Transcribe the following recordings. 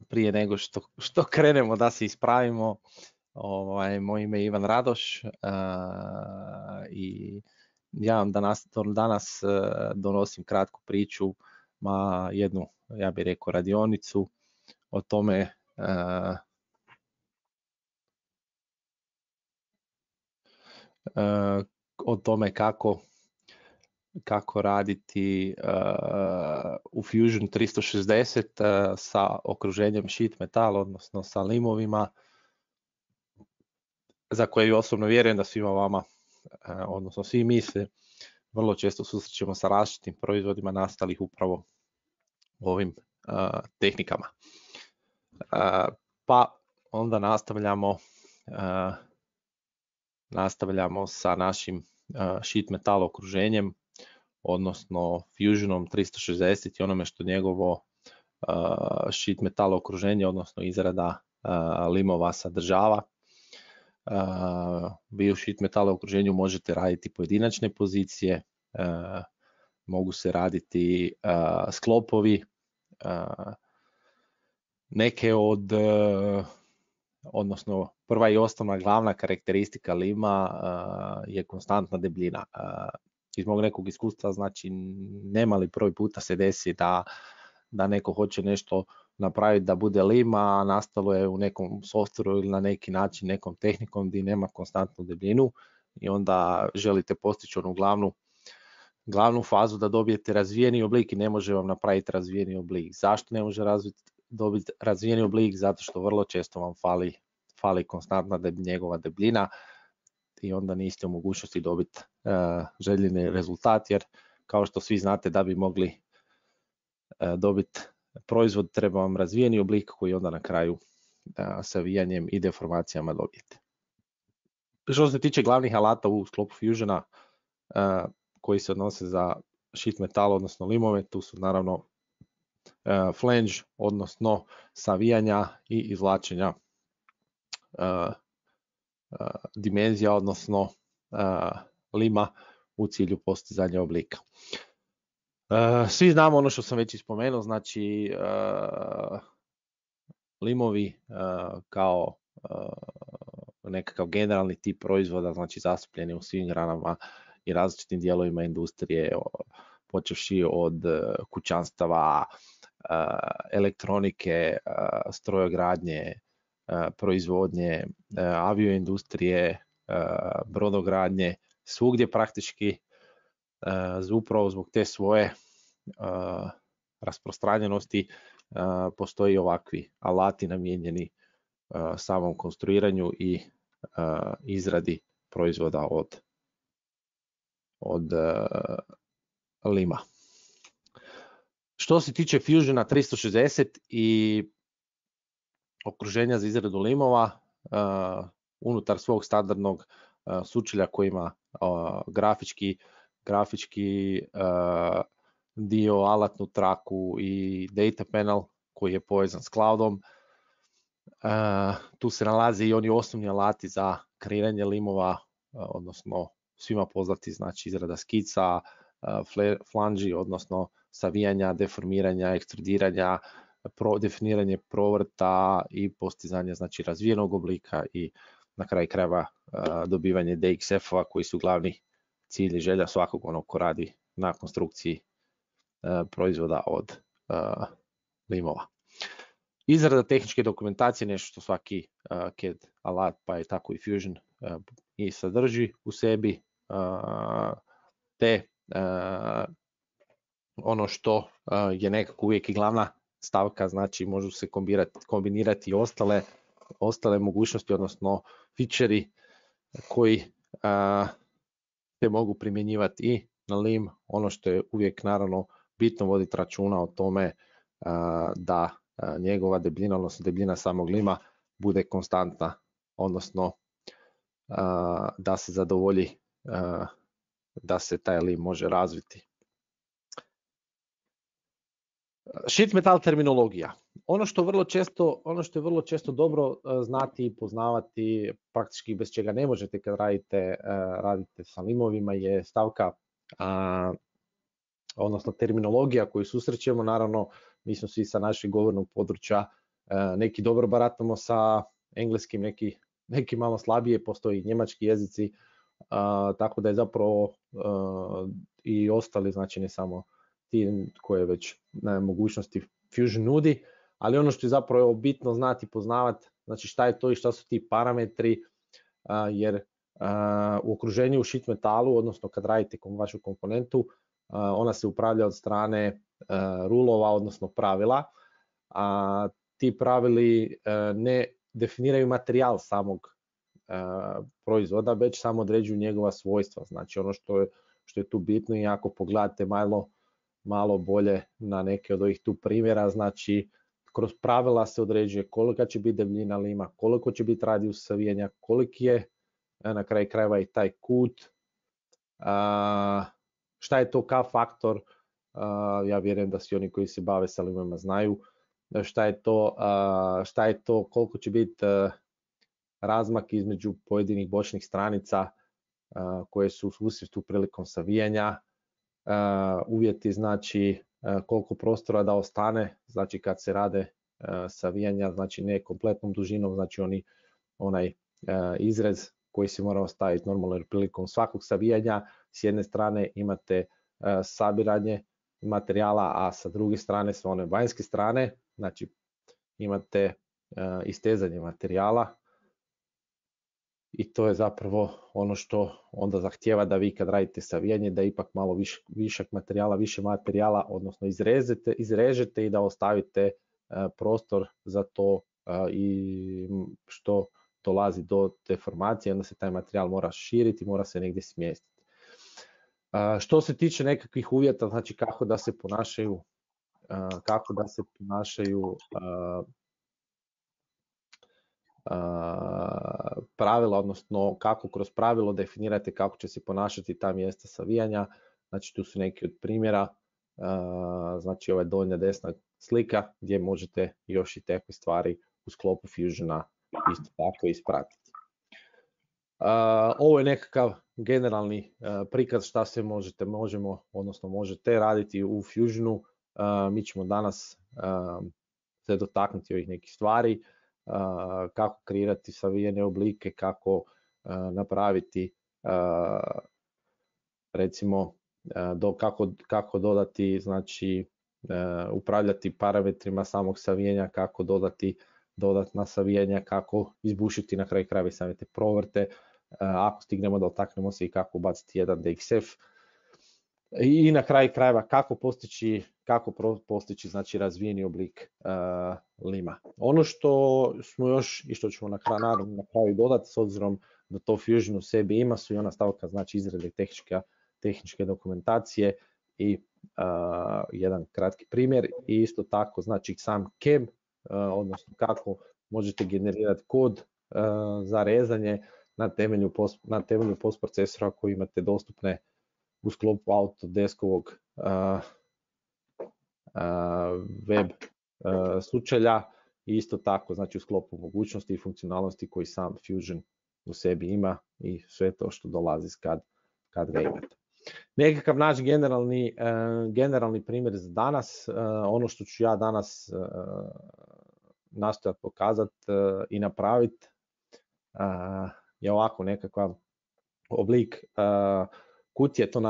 prije nego što krenemo da se ispravimo, moje ime je Ivan Radoš i ja vam danas donosim kratku priču, jednu, ja bih rekao, radionicu o tome kako raditi u Fusion 360 sa okruženjem sheet metal, odnosno sa limovima, za koje osobno vjerujem da svima vama, odnosno svi mi se vrlo često susrećemo sa različitim proizvodima nastalih upravo ovim tehnikama. Pa onda nastavljamo sa našim sheet metal okruženjem, odnosno Fusionom 360 i onome što njegovo sheet metal okruženje, odnosno izrada limova sadržava. Vi u sheet metal okruženju možete raditi pojedinačne pozicije, mogu se raditi sklopovi, neke odnosno prva i osnovna glavna karakteristika lima je konstantna debljina. Iz mog nekog iskustva, znači nemali broj puta se desi da neko hoće nešto napraviti da bude lim, a nastalo je u nekom softveru ili na neki način nekom tehnikom gdje nema konstantnu debljinu i onda želite postići onu glavnu fazu da dobijete razvijeni oblik i ne može vam napraviti razvijeni oblik. Zašto ne može dobiti razvijeni oblik? Zato što vrlo često vam fali konstantna njegova debljina i onda niste u mogućnosti dobiti željeni rezultat, jer kao što svi znate, da bi mogli dobiti proizvod treba vam razvijeni oblik koji onda na kraju savijanjem i deformacijama dobijete. Što se tiče glavnih alata u sklopu Fusiona koji se odnose za sheet metal, odnosno limove, tu su naravno flange, odnosno savijanja i izvlačenja dimenzija, odnosno lima u cilju postizanja oblika. Svi znamo ono što sam već spomenuo, znači limovi kao nekakav generalni tip proizvoda, znači zastupljeni u svim granama i različitim dijelovima industrije, počevši od kućanstava, elektronike, strojogradnje, proizvodnje, avioindustrije, brodogradnje, svugdje praktički upravo zbog te svoje rasprostranjenosti postoji ovakvi alati namijenjeni samom konstruiranju i izradi proizvoda od lima. Što se tiče Fusiona 360 i okruženja za izradu limova, unutar svog standardnog sučelja koji ima grafički dio, alatnu traku i data panel koji je povezan s cloudom. Tu se nalaze i oni osnovni alati za kreiranje limova, odnosno svima poznati, znači izrada skica, flanži, odnosno savijanja, deformiranja, ekstrudiranja, definiranje provrta i postizanje, znači, razvijenog oblika i na kraju krajeva dobivanje DXF-ova koji su glavni cilj i želja svakog onog ko radi na konstrukciji proizvoda od limova. Izrada tehničke dokumentacije, nešto što svaki CAD alat, pa je tako i Fusion i sadrži u sebi, te ono što je nekako uvijek i glavna stavka, znači možu se kombinirati ostale mogućnosti, odnosno fičeri koji se mogu primjenjivati i na lim. Ono što je uvijek naravno bitno voditi računa o tome da njegova debljina, odnosno debljina samog lima bude konstantna, odnosno da se zadovolji da se taj lim može razviti. Sheet metal terminologija. Ono što je vrlo često dobro znati i poznavati, praktički bez čega ne možete kad radite sa limovima, je stavka, odnosno terminologija koju susrećemo. Naravno, mi smo svi sa našeg govornog područja neki dobro baratamo sa engleskim, neki malo slabije, postoji njemački jezici, tako da je zapravo i ostali, znači ne samo ti koje već mogućnosti Fusion nudi, ali ono što je zapravo bitno znati i poznavati, znači šta je to i šta su ti parametri, jer u okruženju u sheet metalu, odnosno kad radite vašu komponentu, ona se upravlja od strane rulova, odnosno pravila, a ti pravili ne definiraju materijal samog proizvoda, već samo određuju njegova svojstva. Znači ono što je tu bitno, i ako pogledate malo bolje na neke od ovih tu primjera, znači kroz pravila se određuje kolika će biti debljina lima, koliko će biti radijus savijanja, koliki je na kraju krajeva i taj kut, šta je to K faktor, ja vjerujem da svi oni koji se bave sa limama znaju šta je to, koliko će biti razmak između pojedinih bočnih stranica koje su u susretu prilikom savijanja, uvjeti, znači koliko prostora da ostane, znači kad se rade savijanja, znači ne kompletnom dužinom, znači onaj izrez koji se mora ostaviti normalno, jer prilikom svakog savijanja s jedne strane imate sabiranje materijala, a sa druge strane, s one vanjske strane, znači imate istezanje materijala, i to je zapravo ono što onda zahtijeva da vi kad radite savijanje da ipak malo više materijala, odnosno izrežete i da ostavite prostor za to, i što dolazi do deformacije, onda se taj materijal mora širiti, mora se negdje smjestiti. Što se tiče nekakvih uvjeta, znači kako da se ponašaju pravila, odnosno kako kroz pravilo definirate kako će se ponašati ta mjesta savijanja, znači tu su neki od primjera, znači ova donja desna slika gdje možete još i takve stvari u sklopu Fusiona isto tako ispratiti. Ovo je nekakav generalni prikaz šta se možete raditi u Fusionu. Mi ćemo danas se dotaknuti ovih nekih stvari, kako kreirati savijene oblike, kako napraviti recimo kako dodati, znači upravljati parametrima samog savijanja, kako dodati dodatna savijanja, kako izbušiti na kraju krajeva same te provrte, ako stignemo dotaknemo se i kako ubaciti jedan DXF, i na kraju krajeva kako postići znači razvijeni oblik lima. Ono što smo još i što ćemo na kraju dodati, s obzirom da to Fusion u sebi ima, su i ona stavka znači izrade tehničke dokumentacije i jedan kratki primjer, i isto tako znači sam CAM, odnosno kako možete generirati kod za rezanje na temelju postprocesora koji imate dostupne u sklopu Autodeskovog web sučelja, i isto tako znači u sklopu mogućnosti i funkcionalnosti koji sam Fusion u sebi ima i sve to što dolazi kad ga imate. Nekakav naš generalni primjer za danas, ono što ću ja danas nastojati pokazati i napraviti je ovako nekakav oblik kutije, to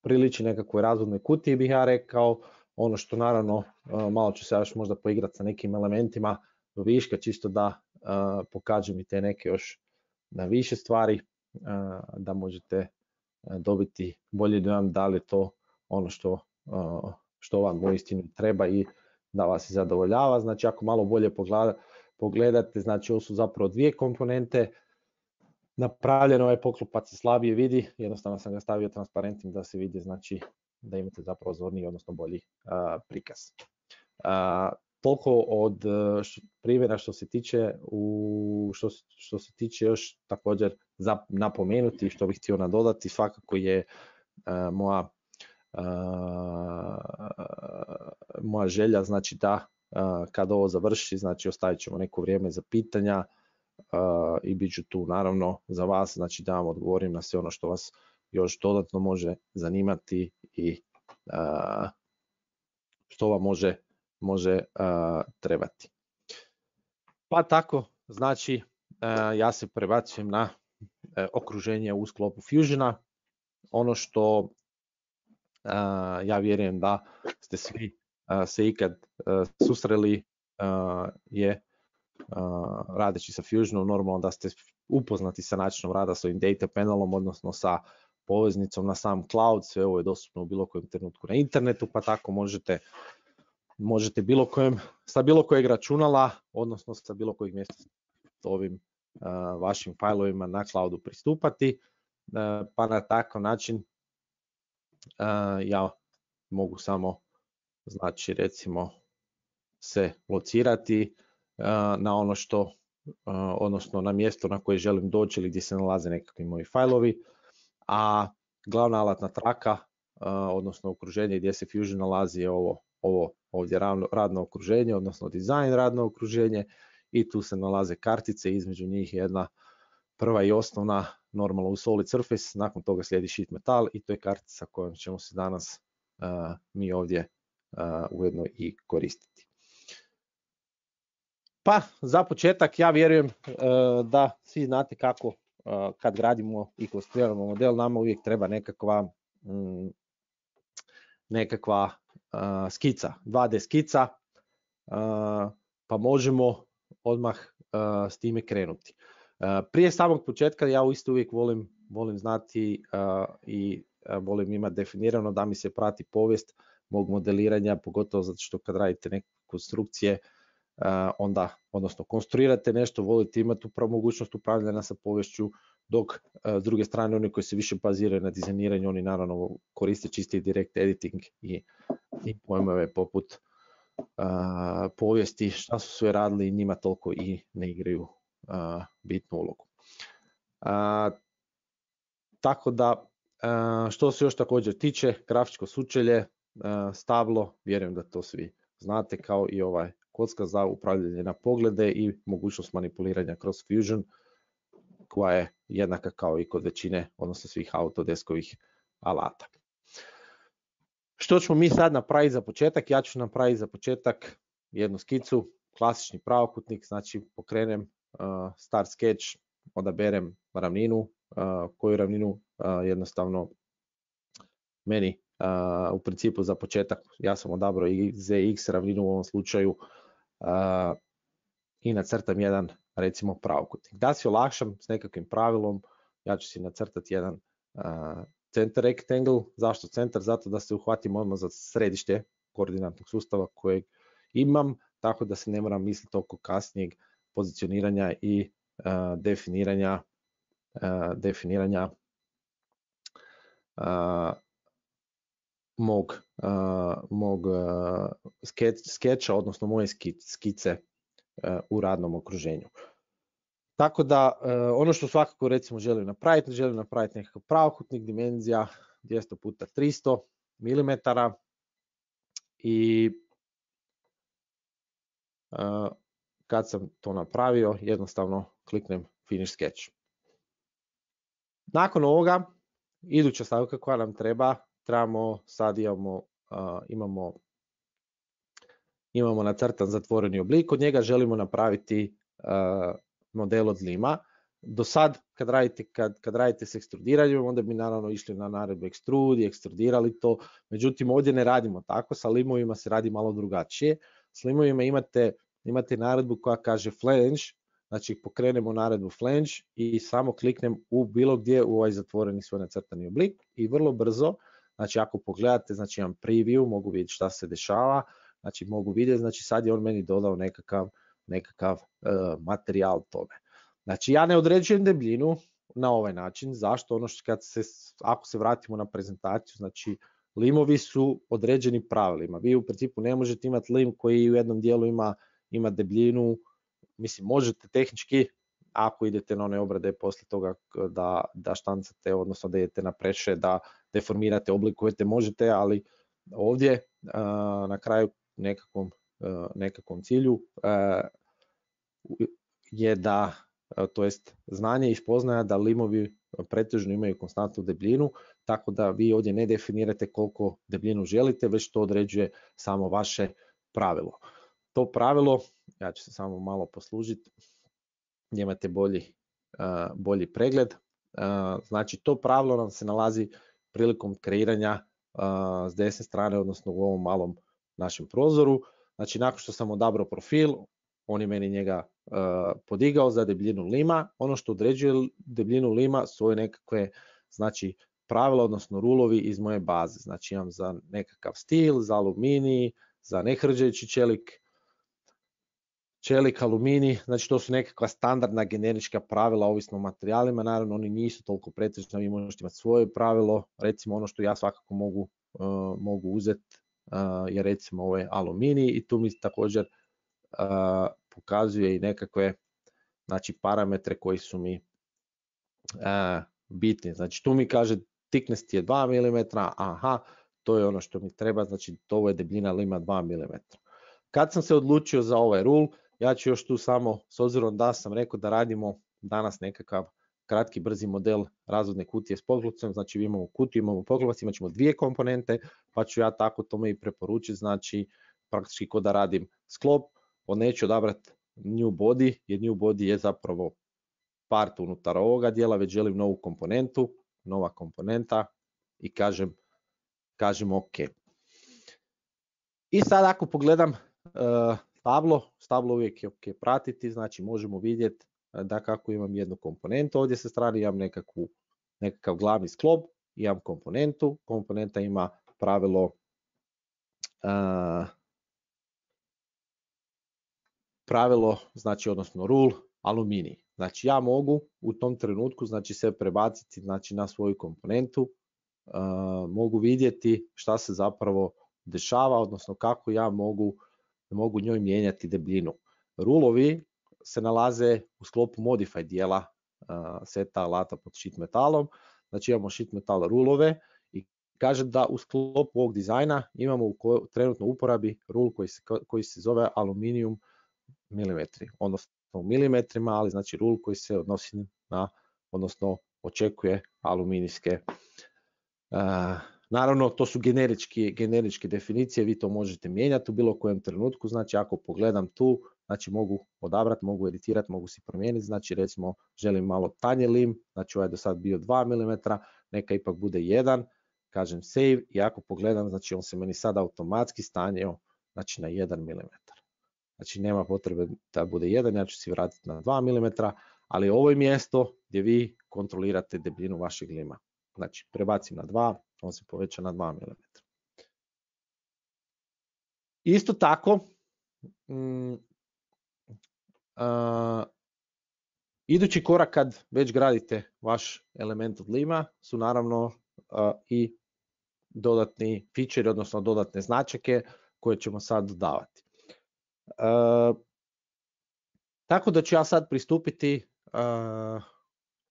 priliči nekakvoj razvodnoj kutiji bih ja rekao. Ono što naravno malo ću se još možda poigrati sa nekim elementima do viška, čisto da pokažem i te neke još na više stvari, da možete dobiti bolji dojam da li je to ono što vam uistinu treba i da vas i zadovoljava. Znači ako malo bolje pogledate, znači ovo su zapravo dvije komponente. Napravljen ovaj poklopac se slabije vidi, jednostavno sam ga stavio transparentnim da se vidi, znači da imate zapravo zorniji, odnosno bolji prikaz. Toliko od primjera što se tiče, što se tiče još također za napomenuti, što bih htio nadodati, svakako je moja želja, znači da kad ovo završi, znači ostavit ćemo neko vrijeme za pitanja, i bit ću tu naravno za vas, znači da vam odgovorim na sve ono što vas još dodatno može zanimati i što vam može trebati. Pa tako, znači ja se prebacujem na okruženje u sklopu Fusiona. Ono što ja vjerujem da ste svi se ikad susreli je radeći sa Fusionom, normalno da ste upoznati sa načinom rada s ovim data panelom, odnosno sa poveznicom na sam cloud. Sve ovo je dostupno u bilo kojem trenutku na internetu, pa tako možete sa bilo kojeg računala, odnosno sa bilo kojeg mjesta ovim vašim failovima na cloudu pristupati, pa na takav način ja mogu samo, znači recimo, se locirati na ono što, odnosno na mjesto na koje želim doći ili gdje se nalaze nekakvi moji failovi, a glavna alatna traka, odnosno okruženje gdje se Fusion nalazi je ovo ovdje radno okruženje, odnosno dizajn radno okruženje, i tu se nalaze kartice, između njih jedna prva i osnovna normalno u Solid Surface, nakon toga slijedi Sheet Metal i to je kartica kojom ćemo se danas mi ovdje ujedno i koristiti. Pa za početak ja vjerujem da svi znate kako kad gradimo i konstruiramo model, nama uvijek treba nekakva skica, 2D skica, pa možemo odmah s time krenuti. Prije samog početka ja isto uvijek volim znati i volim imati definirano da mi se prati povijest mog modeliranja, pogotovo zato što kad radite neke konstrukcije, onda, odnosno konstruirate nešto, volite imati mogućnost upravljanja sa poviješću, dok s druge strane oni koji se više baziraju na dizajniranju, oni naravno koriste čisti direct editing i pojmove poput povijesti, šta su sve radili, njima toliko i ne igraju bitnu ulogu. Tako da, što se još također tiče, grafičko sučelje, stablo, vjerujem da to svi znate, kao i ovaj kocka za upravljanje na poglede i mogućnost manipuliranja kroz Fusion, koja je jednaka kao i kod većine, odnosno svih Autodeskovih alata. Što ćemo mi sad napraviti za početak? Ja ću napraviti za početak jednu skicu, klasični pravokutnik, znači pokrenem start sketch, odaberem ravninu, koju ravninu jednostavno meni u principu za početak, ja sam odabrao ZX ravninu u ovom slučaju i nacrtam jedan recimo pravokutnik. Da si olakšam s nekakvim pravilom, ja ću si nacrtati jedan center rectangle. Zašto centar? Zato da se uhvatim odmah za središte koordinatnog sustava kojeg imam, tako da se ne moram misliti oko kasnijeg pozicioniranja i definiranja mog skeča, odnosno moje skice u radnom okruženju. Tako da ono što svakako recimo želim napraviti nekakav pravokutnik, dimenzija 200x300 mm i kad sam to napravio jednostavno kliknem Finish Sketch. Nakon ovoga iduća stavka koja nam sad imamo nacrtan zatvoreni oblik, od njega želimo napraviti model od lima. Do sad kad radite s ekstrudiranjem, onda bi naravno išli na naredbu extrude i ekstrudirali to, međutim ovdje ne radimo tako, sa limovima se radi malo drugačije. S limovima imate naredbu koja kaže flange, znači pokrenemo naredbu flange i samo kliknem u bilo gdje u ovaj zatvoreni svoj nacrtani oblik i vrlo brzo, znači ako pogledate, znači imam preview, mogu vidjeti šta se dešava, znači mogu vidjeti, znači sad je on meni dodao nekakav materijal tome. Znači ja ne određujem debljinu na ovaj način. Zašto? Ono što ako se vratimo na prezentaciju, znači limovi su određeni pravilima. Vi u principu ne možete imati lim koji u jednom dijelu ima debljinu, mislim možete tehnički, ako idete na one obrade poslije toga da štancate, odnosno da idete na preše, da deformirate, oblikujete, možete, ali ovdje na kraju nekakvom cilju je da, to jest znanje i spoznaja da limovi pretežno imaju konstantnu debljinu, tako da vi ovdje ne definirate koliko debljinu želite, već to određuje samo vaše pravilo. To pravilo, ja ću se samo malo poslužiti, gdje imate bolji pregled. Znači to pravilo nam se nalazi prilikom kreiranja s desne strane, odnosno u ovom malom našem prozoru. Znači nakon što sam odabrao profil, on je meni njega podigao za debljinu lima. Ono što određuje debljinu lima su ove nekakve, znači, pravila, odnosno rulovi iz moje baze. Znači imam za nekakav stil, za aluminij, za nehrđajući čelik, aluminij, znači to su nekakva standardna generička pravila ovisno o materijalima, naravno oni nisu toliko pretežni, vi možete imati svoje pravilo, recimo ono što ja svakako mogu uzeti je recimo ovaj aluminij i tu mi također pokazuje i nekakve, znači, parametre koji su mi bitni. Znači tu mi kaže thickness je 2 mm, aha, to je ono što mi treba, znači to je debljina lima 2 mm. Kad sam se odlučio za ovaj rule, ja ću još tu samo, s obzirom da sam rekao da radimo danas nekakav kratki brzi model razvodne kutije s poklopcem, znači imamo kutiju, imamo poklopac, imat ćemo dvije komponente, pa ću ja tako tome i preporučiti, znači praktički ko da radim sklop, neću odabrati new body, jer new body je zapravo part unutar ovoga dijela, već želim novu komponentu, nova komponenta i kažem ok. I sad ako pogledam stablo uvijek je ok pratiti, znači možemo vidjeti da kako imam jednu komponentu, ovdje sa strane imam nekakav glavni sklop, imam komponentu, komponenta ima pravilo, znači odnosno rule, aluminij. Znači ja mogu u tom trenutku, znači se prebaciti, znači na svoju komponentu, mogu vidjeti šta se zapravo dešava, odnosno kako ja mogu njoj mijenjati debljinu. Rulovi se nalaze u sklopu modify dijela seta alata pod sheet metalom, znači imamo sheet metal rulove i kaže da u sklopu ovog dizajna imamo u trenutno uporabi rule koji se zove aluminium milimetri, odnosno u milimetrima, ali znači rule koji se odnosi na, odnosno očekuje aluminijske. Naravno, to su generičke definicije, vi to možete mijenjati u bilo kojem trenutku, znači ako pogledam tu, znači mogu odabrati, mogu editirati, mogu si promijeniti, znači recimo želim malo tanji lim, znači ovaj je do sad bio 2 mm, neka ipak bude 1, kažem save i ako pogledam, znači on se meni sad automatski stanjio, znači na 1 mm. Znači nema potrebe da bude 1, ja ću si vratiti na 2 mm, ali ovo je mjesto gdje vi kontrolirate debljinu vašeg lima. Znači prebacim na 2, on se poveća na 2 mm. Isto tako, idući korak kad već gradite vaš element od lima su naravno i dodatni feature, odnosno dodatne značajke koje ćemo sad dodavati. Tako da ću ja sad pristupiti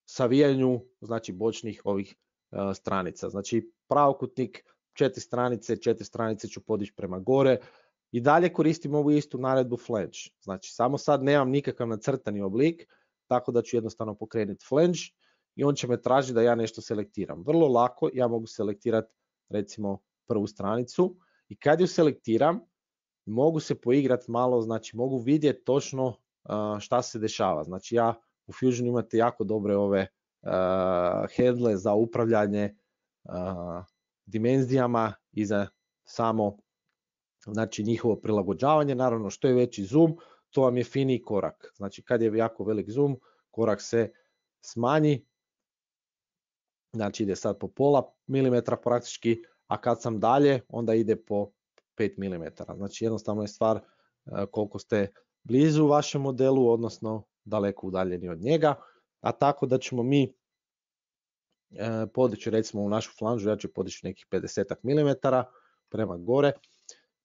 savijanju, znači bočnih ovih stranica. Znači pravokutnik, 4 stranice ću podići prema gore i dalje koristim ovu istu naredbu flange. Znači samo sad nemam nikakav nacrtani oblik, tako da ću jednostavno pokrenuti flange i on će me tražiti da ja nešto selektiram. Vrlo lako, ja mogu selektirati recimo prvu stranicu i kad ju selektiram, mogu se poigrati malo, znači mogu vidjeti točno šta se dešava. Znači ja u Fusionu imate jako dobre ove handle za upravljanje dimenzijama i za samo, znači, njihovo prilagođavanje. Naravno što je veći zoom, to vam je finiji korak. Znači kad je jako velik zoom, korak se smanji, znači ide sad po pola milimetra praktički, a kad sam dalje onda ide po 5 mm. Znači jednostavno je stvar koliko ste blizu vašem modelu, odnosno daleko udaljeni od njega, a tako da ćemo mi podići recimo u našu flanžu, ja ću podići nekih 50 mm prema gore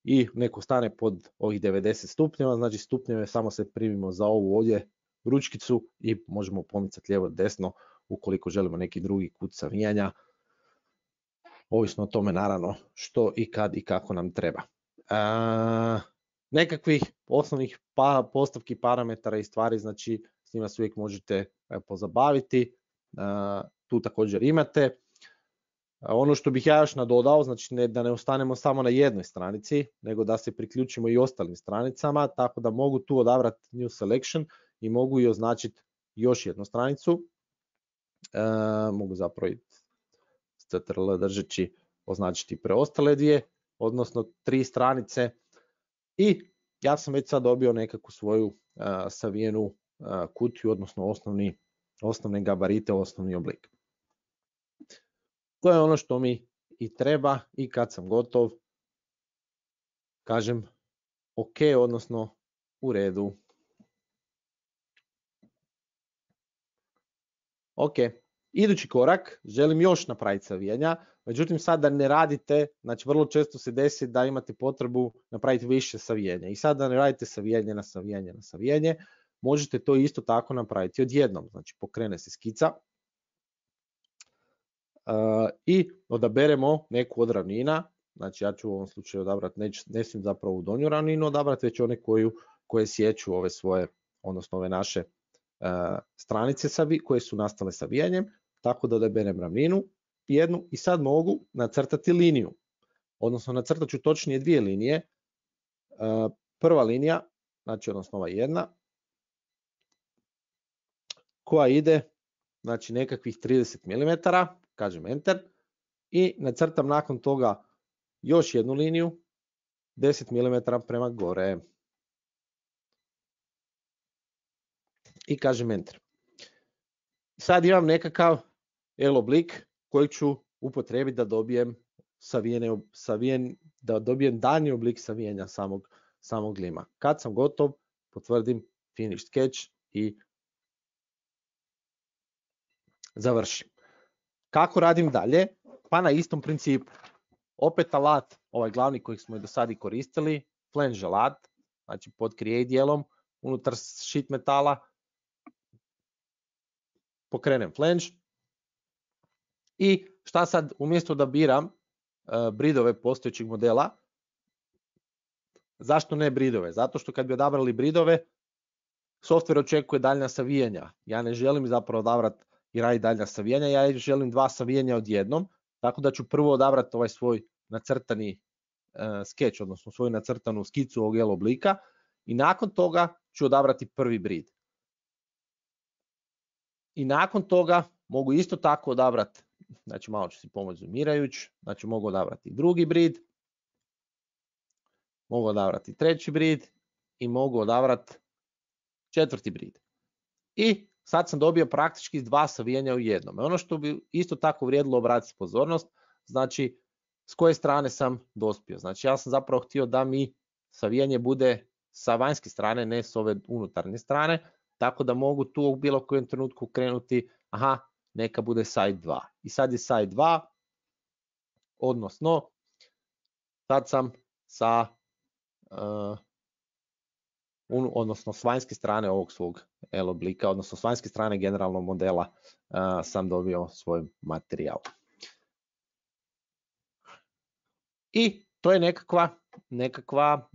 i neko stane pod ovih 90 stupnjeva, znači stupnjeve samo se primimo za ovu ovdje ručkicu i možemo pomicati lijevo desno ukoliko želimo neki drugi kut savijanja, ovisno o tome naravno što i kad i kako nam treba. Nekakvih osnovnih postavki, parametara i stvari, znači s njima se uvijek možete pozabaviti, tu također imate. Ono što bih ja još nadodao, znači da ne ostanemo samo na jednoj stranici, nego da se priključimo i ostalim stranicama, tako da mogu tu odabrati New Selection i mogu i označiti još jednu stranicu. Mogu zapravo i CTRL držeći označiti preostale dvije, odnosno 3 stranice. I ja sam već sad dobio nekakvu svoju savijenu kutiju, odnosno osnovne gabarite, osnovni oblik. To je ono što mi i treba i kad sam gotov, kažem OK, odnosno u redu. Ok, idući korak, želim još napraviti savijanja, međutim sad da ne radite, znači vrlo često se desi da imate potrebu napraviti više savijenja i sad da ne radite savijanje na savijanje na savijanje, možete to isto tako napraviti odjednom, znači pokrene se skica i odaberemo neku od ravnina, znači ja ću u ovom slučaju odabrati, ne smijem zapravo u donju ravninu odabrati, već one koje sjeću ove svoje, odnosno ove naše stranice koje su nastale savijanjem, tako da odaberem ravninu jednu i sad mogu nacrtati liniju, odnosno nacrtat ću točnije dvije linije. Prva linija, znači odnosno ova jedna, koja ide znači nekakvih 30 mm, kažem enter, i nacrtam nakon toga još jednu liniju 10 mm prema gore i kažem enter. Sad imam nekakav L oblik koji ću upotrijebiti da dobijem da dobijem daljnji oblik savijanja samog lima. Kad sam gotov, potvrdim finish sketch i završim. Kako radim dalje? Pa na istom principu. Opet alat, ovaj glavni koji smo i do sada koristili, flange alat, znači pod create dijelom unutar sheet metala, pokrenem flange i šta sad, umjesto da biram bridove postojećeg modela, zašto ne bridove? Zato što kad bi odabrali bridove, software očekuje daljnja savijanja. Ja ne želim zapravo odabrati i raditi daljnja savijanja, ja želim 2 savijanja odjednom, tako da ću prvo odabrati ovaj svoj nacrtani sketch, odnosno svoju nacrtanu skicu ovog L oblika i nakon toga ću odabrati prvi brid. I nakon toga mogu isto tako odabrati, znači malo ću si pomoći zoomirajući, znači mogu odabrati drugi brid, mogu odabrati treći brid i mogu odabrati četvrti brid. I sad sam dobio praktički 2 savijanja u jednom. Ono što bi isto tako vrijedilo obratiti pozornost, znači s koje strane sam dospio. Znači ja sam zapravo htio da mi savijanje bude sa vanjske strane, ne s ove unutarnje strane, tako da mogu tu u bilo kojem trenutku krenuti, aha, neka bude side 2. I sad je side 2, odnosno sad sam sa odnosno s vanjske strane ovog svog L oblika, odnosno s vanjske strane generalnog modela sam dobio svoj materijal. I to je nekakva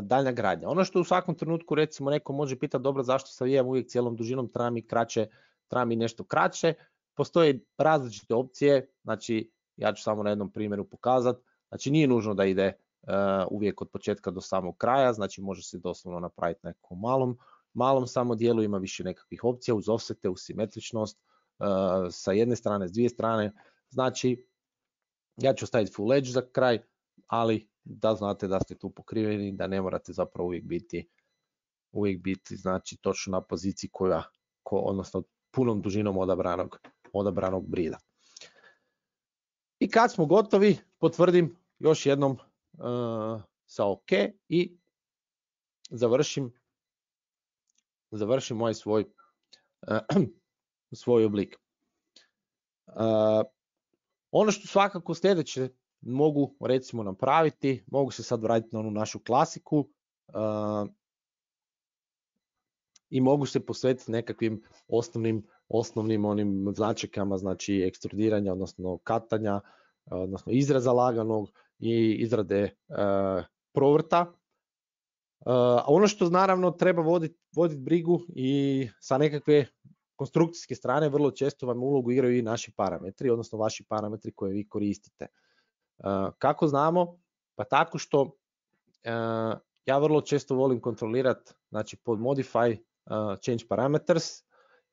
daljnja gradnja. Ono što u svakom trenutku recimo neko može pitati, dobro, zašto savijam uvijek cijelom dužinom, treba mi nešto kraće. Postoje različite opcije, znači ja ću samo na jednom primjeru pokazati, znači nije nužno da ide uvijek od početka do samog kraja, znači može se doslovno napraviti na nekom malom samo dijelu, ima više nekakvih opcija uz offsete, uz simetričnost, sa jedne strane, s dvije strane, znači ja ću staviti full edge za kraj, ali da znate da ste tu pokriveni, da ne morate zapravo uvijek biti znači točno na poziciji odnosno punom dužinom odabranog brida. I kad smo gotovi, potvrdim još jednom sa OK i završim ovaj svoj oblik. Ono što svakako sljedeće mogu recimo napraviti, mogu se sad vratiti na onu našu klasiku i mogu se posvetiti nekakvim osnovnim onim značajkama, znači ekstrudiranja, odnosno katanja, odnosno izraza laganog i izrade provrta. A ono što naravno treba voditi brigu i sa nekakve konstrukcijske strane vrlo često vam ulogu igraju i naši parametri, odnosno vaši parametri koje vi koristite. Kako znamo? Pa tako što ja vrlo često volim kontrolirati, znači pod modify change parameters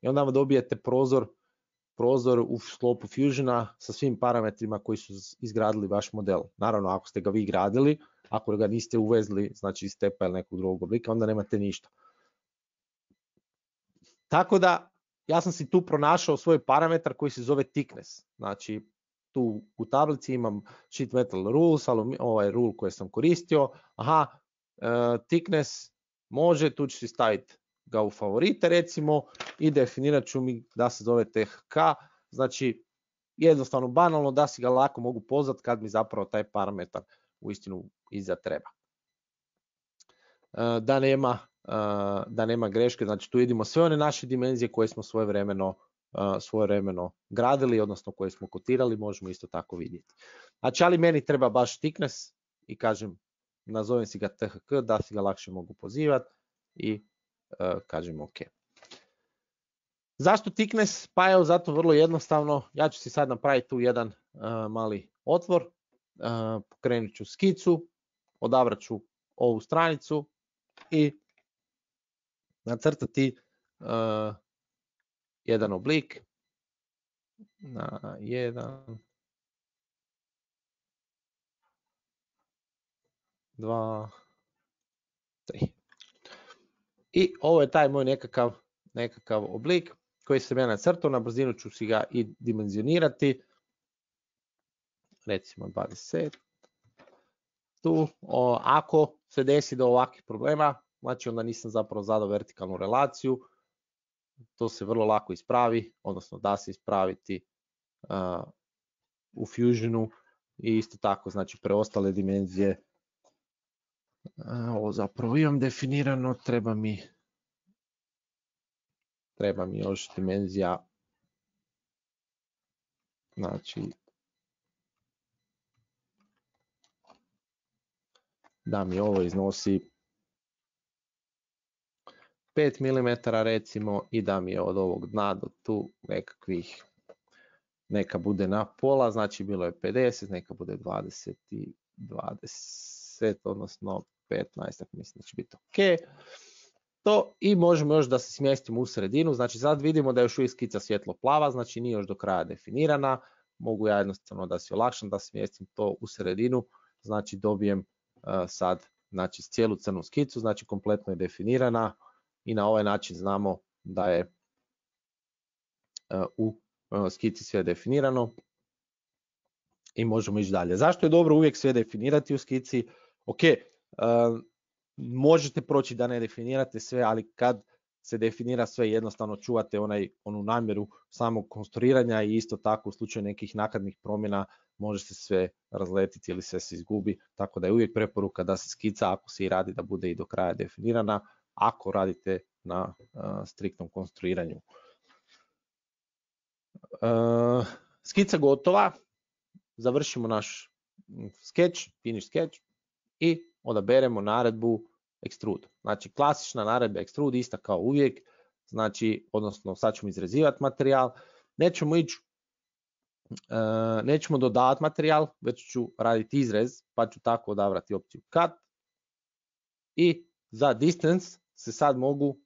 i onda vam dobijete prozor u sklopu Fusiona sa svim parametrima koji su izgradili vaš model. Naravno, ako ste ga vi gradili, ako ga niste uvezli, znači iz stepa ili nekog drugog oblika, onda nemate ništa. Tako da, ja sam si tu pronašao svoj parametar koji se zove thickness. Znači, tu u tablici imam sheet metal rules, ovaj rule koji sam koristio. Thickness može, tu ću si staviti ga u favorite recimo i definirat ću mi da se zove THK. Znači, jednostavno banalno da si ga lako mogu pozvati kad mi zapravo taj parametar uistinu iza treba. Da nema greške, znači tu vidimo sve one naše dimenzije koje smo svojevremeno gradili, odnosno koje smo kotirali, možemo isto tako vidjeti. Znači, ali meni treba baš thickness i kažem, nazovem si ga THK da si ga lakše mogu pozivati i kažem OK. Zašto thickness? Pa evo zato vrlo jednostavno, ja ću si sad napraviti tu jedan mali otvor, pokrenut ću skicu, odabrat ću ovu stranicu i nacrtati jedan oblik na 1, 2, 3. I ovo je taj moj nekakav oblik koji sam ja nacrtao, na brzinu ću si ga i dimenzionirati, recimo 20. Tu, ako se desi do ovakvih problema, znači onda nisam zapravo zadao vertikalnu relaciju, to se vrlo lako ispravi, odnosno da se ispraviti u Fusionu i isto tako, znači preostale dimenzije. Ovo zapravo imam definirano, treba mi još dimenzija, znači da mi ovo iznosi 5 mm recimo i da mi je od ovog dna do tu neka bude na pola, znači bilo je 50, neka bude 20 i 20, odnosno 15, mislim da će biti ok. To i možemo još da se smjestimo u sredinu, znači sad vidimo da je još uvijek skica svjetlo plava, znači nije još do kraja definirana, mogu ja jednostavno da se olakšam da smjestim to u sredinu, znači dobijem sad znači cijelu crnu skicu, znači kompletno je definirana i na ovaj način znamo da je u skici sve definirano i možemo ići dalje. Zašto je dobro uvijek sve definirati u skici? Ok, možete proći da ne definirate sve, ali kad se definira sve jednostavno čuvate onu namjeru samog konstruiranja i isto tako u slučaju nekih naknadnih promjena može se sve razletiti ili sve se izgubi, tako da je uvijek preporuka da se skica ako se i radi da bude i do kraja definirana, ako radite na striktnom konstruiranju. Skica gotova, završimo naš sketch, finish sketch i odaberemo naredbu extrude. Znači klasična naredba extrude ista kao uvijek, znači odnosno sad ćemo izrezivati materijal, nećemo dodavati materijal, već ću raditi izrez, pa ću tako odabrati opciju cut i za distance se sad mogu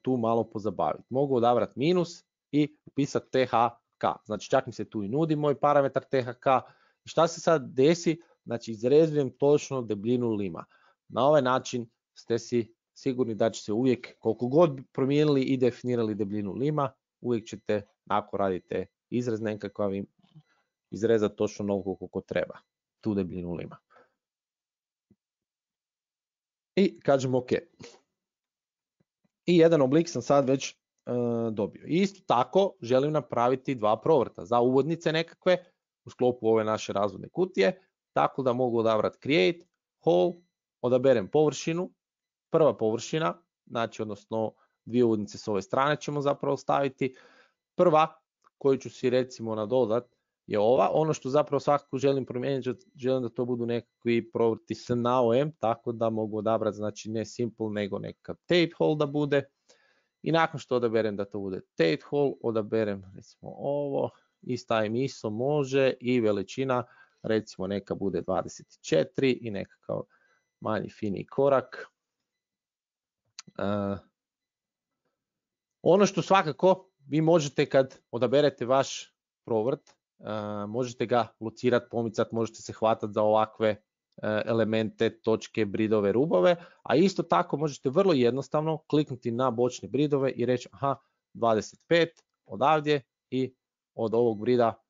tu malo pozabaviti. Mogu odabrati minus i upisati THK, znači čak mi se tu i nudi moj parametar THK. Šta se sad desi? Znači izrezujem točno debljinu lima. Na ovaj način ste si sigurni da će se uvijek, koliko god promijenili i definirali debljinu lima, uvijek ćete, ako radite izrez nekakav, izrezati točno onoliko koliko treba, tu debljinu lima. I kažem OK. I jedan oblik sam sad već dobio. I isto tako želim napraviti dva provrta za uvodnice nekakve u sklopu ove naše razvodne kutije, tako da mogu odabrati create, whole, odaberem površinu, prva površina, znači odnosno dvije uvodnice s ove strane ćemo zapravo staviti. Prva koju ću si recimo nadodat je ova, ono što zapravo svakako želim promijeniti, želim da to budu nekakvi provrti s naoem, tako da mogu odabrati znači ne simple nego nekakav tape hole da bude. I nakon što odaberem da to bude Tate Hall, odaberem recimo ovo i stavim ISO može i veličina recimo neka bude 24 i nekakav manji fini korak. Ono što svakako vi možete kad odaberete vaš provrt, možete ga locirati, pomicati, možete se hvatati za ovakve elemente, točke, bridove, rubove, a isto tako možete vrlo jednostavno kliknuti na bočne bridove i reći aha, 25 odavdje i od ovog brida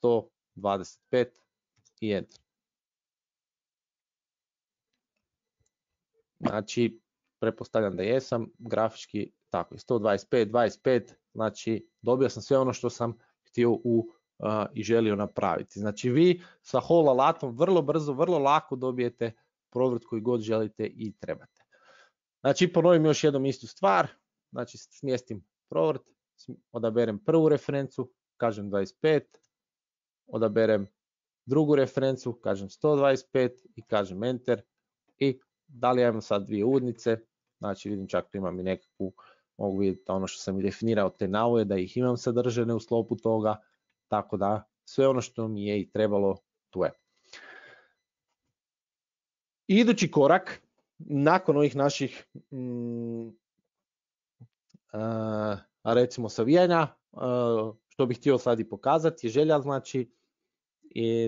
125 i enter. Znači, pretpostavljam da jesam, grafički tako je 125, 25, znači dobio sam sve ono što sam htio i želio napraviti. Znači vi sa Hall alatom vrlo brzo, vrlo lako dobijete provrt koji god želite i trebate. Znači ponovim još jednom istu stvar, znači smjestim provrt, odaberem prvu referencu, kažem 25, odaberem drugu referencu, kažem 125 i kažem enter i da li ja imam sad dvije udnice, znači vidim čak imam i nekakvu, mogu vidjeti ono što sam i definirao te navoje, da ih imam sadržane u sklopu toga, tako da sve ono što mi je i trebalo tu je. Idući korak, nakon ovih naših recimo savijanja, što bih htio sad i pokazati je želja, znači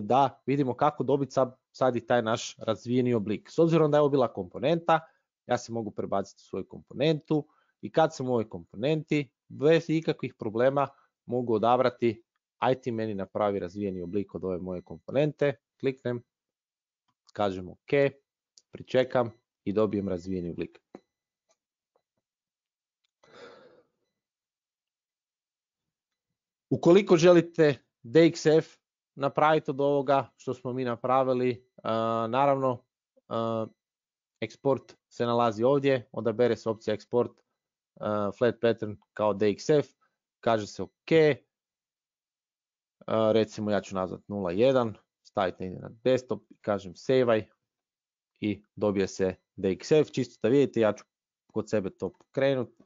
da vidimo kako dobiti sad i taj naš razvijeni oblik. S obzirom da je ovo bila komponenta, ja se mogu prebaciti u svoju komponentu i kad sam u ovoj komponenti, bez ikakvih problema mogu odabrati aj ti meni napravi razvijeni oblik od ove moje komponente, kliknem, kažem OK, pričekam i dobijem razvijeni oblik. Ukoliko želite DXF napraviti od ovoga što smo mi napravili, naravno eksport se nalazi ovdje, odabere se opcija eksport flat pattern kao DXF, kaže se OK, recimo ja ću nazvati 0.1, staviti negdje na desktop i kažem save i dobije se DXF, čisto da vidite, ja ću kod sebe to pokrenuti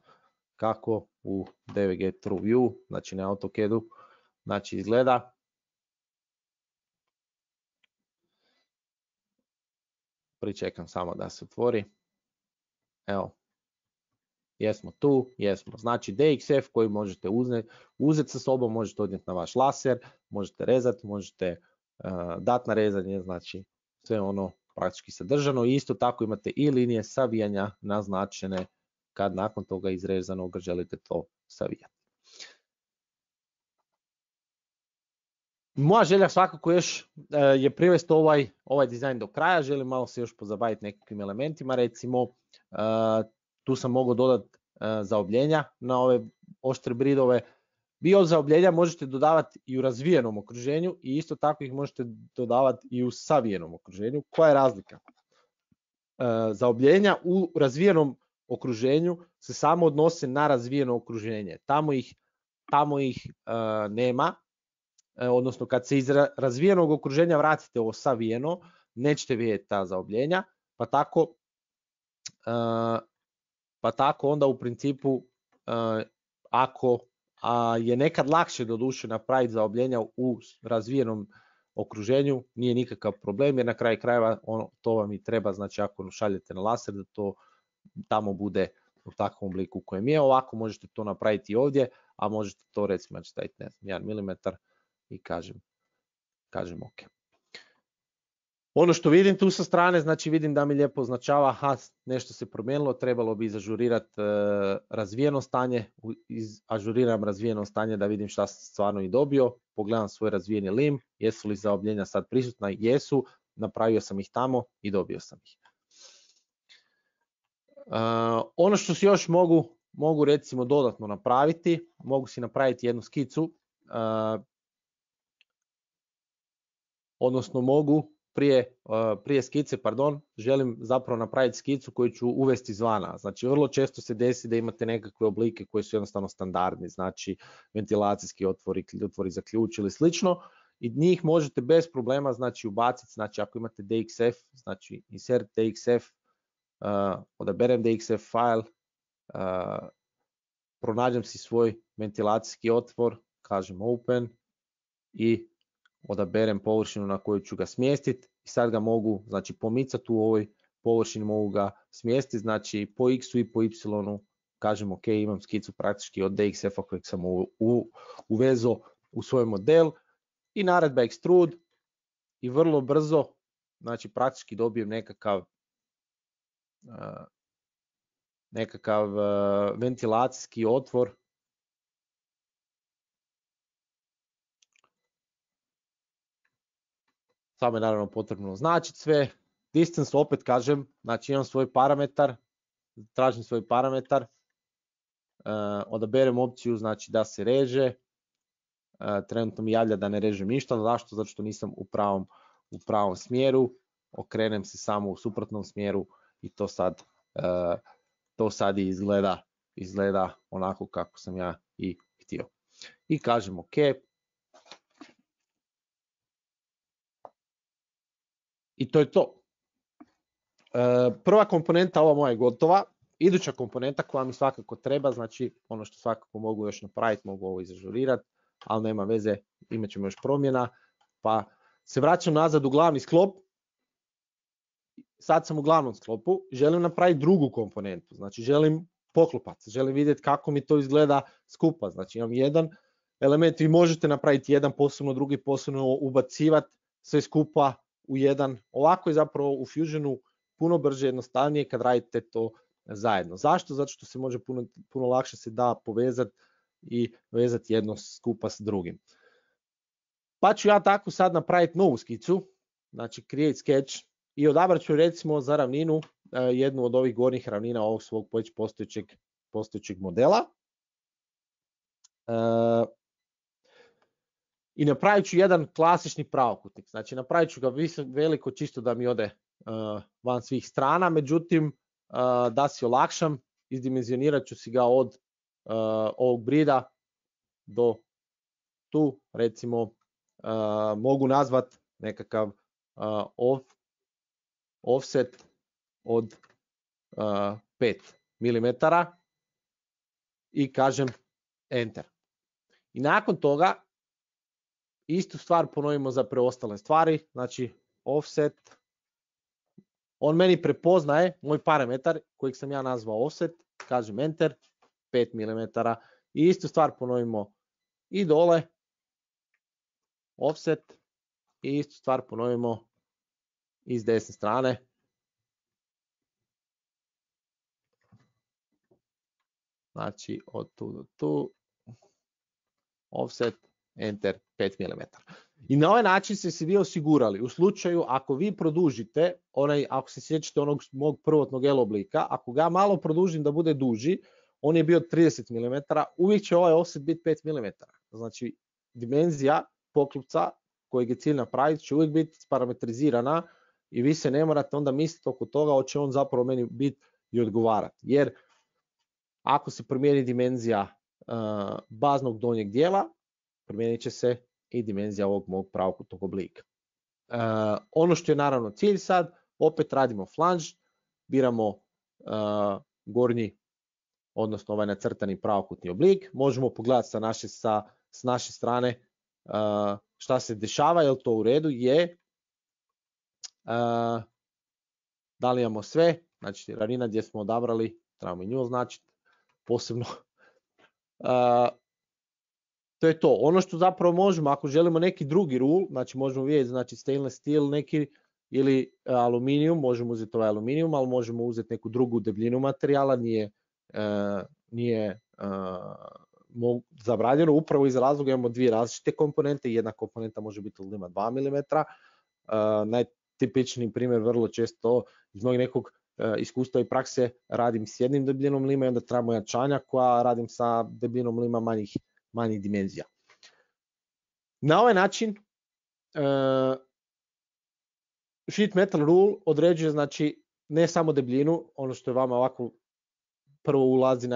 kako u DVG TrueView, znači na AutoCAD-u, znači izgleda. Pričekam samo da se otvori. Evo, jesmo tu, jesmo. Znači DXF koji možete uzeti sa sobom, možete odnijeti na vaš laser, možete rezati, možete dati na rezanje, znači sve ono praktički sadržano. I isto tako imate i linije savijanja naznačene kad nakon toga izrezanog želite to savijati. Moja želja svakako još je privesti ovaj dizajn do kraja, želim malo se još pozabaviti nekakvim elementima, recimo tu sam mogao dodati zaobljenja na ove oštre bridove. Vi od zaobljenja možete dodavati i u razvijenom okruženju i isto tako ih možete dodavati i u savijenom okruženju. Koja je razlika? Zaobljenja u razvijenom okruženju se samo odnose na razvijeno okruženje, tamo ih nema. Odnosno kad se iz razvijenog okruženja vratite u savijeno, nećete vidjeti ta zaobljenja, pa tako onda u principu ako je nekad lakše doduše napraviti zaobljenja u razvijenom okruženju, nije nikakav problem jer na kraju krajeva to vam i treba, znači ako šaljete na laser da to tamo bude u takvom obliku u kojem je, ovako možete to napraviti i ovdje, a možete to recimo staviti 1 mm i kažem OK. Ono što vidim tu sa strane, znači vidim da mi lijepo označava, aha, nešto se promijenilo, trebalo bi izažurirati razvijeno stanje, ažuriram razvijeno stanje da vidim šta sam stvarno i dobio, pogledam svoj razvijeni lim, jesu li zaobljenja sad prisutna, jesu, napravio sam ih tamo i dobio sam ih. Ono što si još mogu recimo dodatno napraviti, mogu si napraviti jednu skicu, odnosno mogu prije skice, želim zapravo napraviti skicu koju ću uvesti izvana. Znači vrlo često se desi da imate nekakve oblike koji su jednostavno standardni, znači ventilacijski otvori za ključ ili slično i njih možete bez problema znači ubaciti, znači ako imate DXF, znači insert DXF, odaberem DXF file, pronađem si svoj ventilacijski otvor, kažem open i odaberem površinu na koju ću ga smjestiti i sad ga mogu, znači, pomicati u ovoj površini, mogu ga smjestiti, znači po x i po y, kažem ok, imam skicu praktički od DXF-a kojeg sam uvezao u svoj model i naredba extrude i vrlo brzo, znači praktički dobijem nekakav ventilacijski otvor. Samo je naravno potrebno označiti sve. Distance opet kažem, znači imam svoj parametar, tražim svoj parametar, odaberem opciju znači da se reže, trenutno mi javlja da ne režem ništa, zašto? Zato što nisam u pravom smjeru, okrenem se samo u suprotnom smjeru i to sad izgleda onako kako sam ja i htio. I kažem ok. I to je to. Prva komponenta ova moja je gotova. Iduća komponenta koja mi svakako treba, znači ono što svakako mogu još napraviti, mogu ovo izažurirati, ali nema veze, imat ćemo još promjena. Pa se vraćam nazad u glavni sklop. Sad sam u glavnom sklopu, želim napraviti drugu komponentu, znači želim poklopac, želim vidjeti kako mi to izgleda skupa. Znači imam jedan element, vi možete napraviti jedan posebno, drugi posebno, ubacivati sve skupa u jedan. Ovako je zapravo u Fusionu puno brže, jednostavnije kad radite to zajedno. Zašto? Zato što se može puno lakše se da povezati i vezati jedno skupa s drugim. Pa ću ja tako sad napraviti novu skicu, znači create sketch i odabrat ću recimo za ravninu jednu od ovih gornjih ravnina ovog svog postojećeg modela. I napravit ću jedan klasični pravokutnik, znači napravit ću ga veliko čisto da mi ode van svih strana, međutim da si olakšam, izdimenzionirat ću si ga od ovog brida do tu, recimo mogu nazvat nekakav offset od 5 mm i kažem enter. I nakon toga istu stvar ponovimo za preostale stvari, znači offset, on meni prepoznaje moj parametar kojeg sam ja nazvao offset, kažem enter, 5 mm i istu stvar ponovimo i dole, offset i istu stvar ponovimo i s desne strane. Znači od tu do tu, offset, enter, 5 mm. I na ovaj način ste se vi osigurali u slučaju ako vi produžite, ako se sjećate onog mog prvotnog L oblika, ako ga malo produžim da bude duži, on je bio 30 mm, uvijek će ovaj offset biti 5 mm. Znači dimenzija poklopca kojeg je cilj napraviti će uvijek biti parametrizirana i vi se ne morate onda misliti oko toga hoće on zapravo meni biti i odgovarati. Jer ako se promijeni dimenzija baznog donjeg dijela, promijenit će se i dimenzija ovog mog pravokutnog oblika. Ono što je naravno cilj sad, opet radimo flange, biramo gornji, odnosno ovaj nacrtani pravokutni oblik, možemo pogledati s naše strane šta se dešava, je li to u redu, je. Da li imamo sve, znači ravnina gdje smo odabrali, trebamo i nju označiti posebno. To je to. Ono što zapravo možemo, ako želimo neki drugi rule, znači možemo vidjeti, znači stainless steel neki ili aluminijum, možemo uzeti ovaj aluminijum, ali možemo uzeti neku drugu debljinu materijala, nije zabranjeno, upravo iz razloga imamo dvije različite komponente, jedna komponenta može biti od lima 2 mm, najtipičniji primjer vrlo često iz mojeg nekog iskustva i prakse radim s jednim debljinom lima i onda trebamo jačanja koja radim sa debljinom lima manjih dimenzija. Na ovaj način sheet metal rule određuje znači ne samo debljinu, ono što je vama ovako prvo ulazi